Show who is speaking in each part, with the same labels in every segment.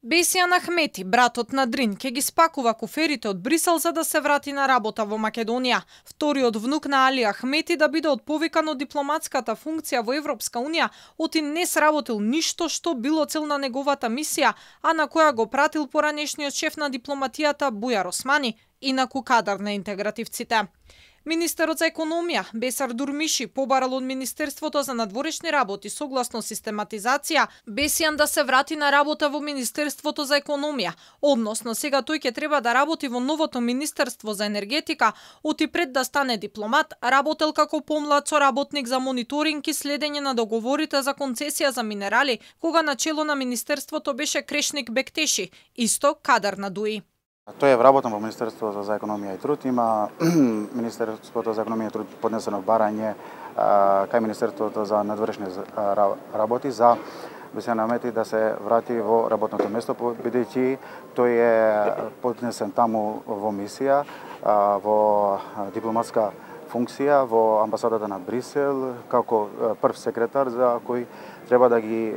Speaker 1: Бесијан Ахмети, братот на Дрин, ќе ги спакува куферите од Брисел за да се врати на работа во Македонија. Вториот внук на Али Ахмети да биде отповикан од дипломатската функција во Европска унија, оти не сработил ништо што било цел на неговата мисија, а на која го пратил поранешниот шеф на дипломатијата Бујар Османи, инаку кадар на интегративците. Министерот за економија Бесар Дурмиши побарал од Министерството за надворешни работи согласно систематизација Бесијан да се врати на работа во Министерството за економија, односно сега тој ќе треба да работи во новото Министерство за енергетика, оти пред да стане дипломат, работел како помлад соработник за мониторинг и следење на договорите за концесија за минерали, кога на чело на Министерството беше Крешник Бектеши, исто кадар на ДУИ.
Speaker 2: Тој е вработен во Министерството за економија и труд. Има Министерството за економија и труд поднесено барање кај Министерството за надворешни работи за Бесијан Ахмети да се врати во работното место, бидејќи тој е поднесен таму во мисија, во дипломатска функција во амбасадата на Брисел како прв секретар за кој треба да ги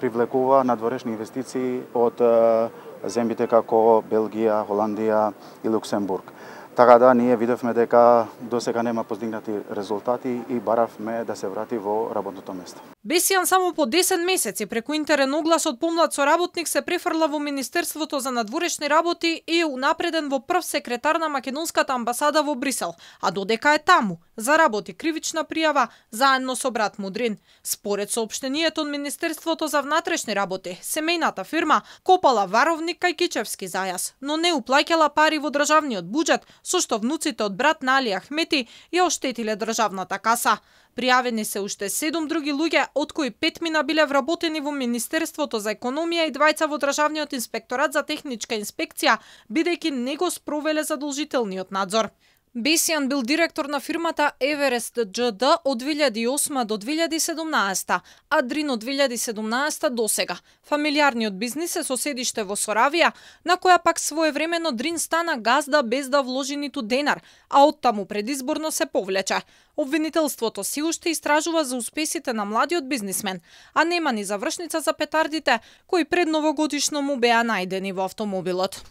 Speaker 2: привлекува надворешни инвестиции од земјите како Белгија, Холандија и Луксембург. Така да ние видовме дека досега нема постигнати резултати и баравме да се врати во работното место.
Speaker 1: Бесијан само по 10 месеци преку интерен оглас од помлад соработник се префрла во Министерството за надворешни работи и е унапреден во прв секретар на македонската амбасада во Брисел, а додека е таму, заработи кривична пријава заедно со брат му Дрин. Според соопштението од Министерството за внатрешни работи, семејната фирма копала варовник кај Кичевски зајас, но не уплаќала пари во државниот буџет, со што внуците од брат на Али Ахмети ја оштетиле државната каса. Пријавени се уште 7 други луѓе, од кои 5 биле вработени во Министерството за економија и 2 во Државниот инспекторат за техничка инспекција, бидејќи не го спровеле задолжителниот надзор. Бесијан бил директор на фирмата Еверест ДЖД од 2008 до 2017, а Дрин од 2017 до сега. Фамилиарниот бизнис е со седиште во Соравија, на која пак своевремено Дрин стана газда без да вложи ниту денар, а оттаму предизборно се повлече. Обвинителството си уште истражува за успесите на младиот бизнисмен, а нема ни завршница за петардите кои пред новогодишно му беа најдени во автомобилот.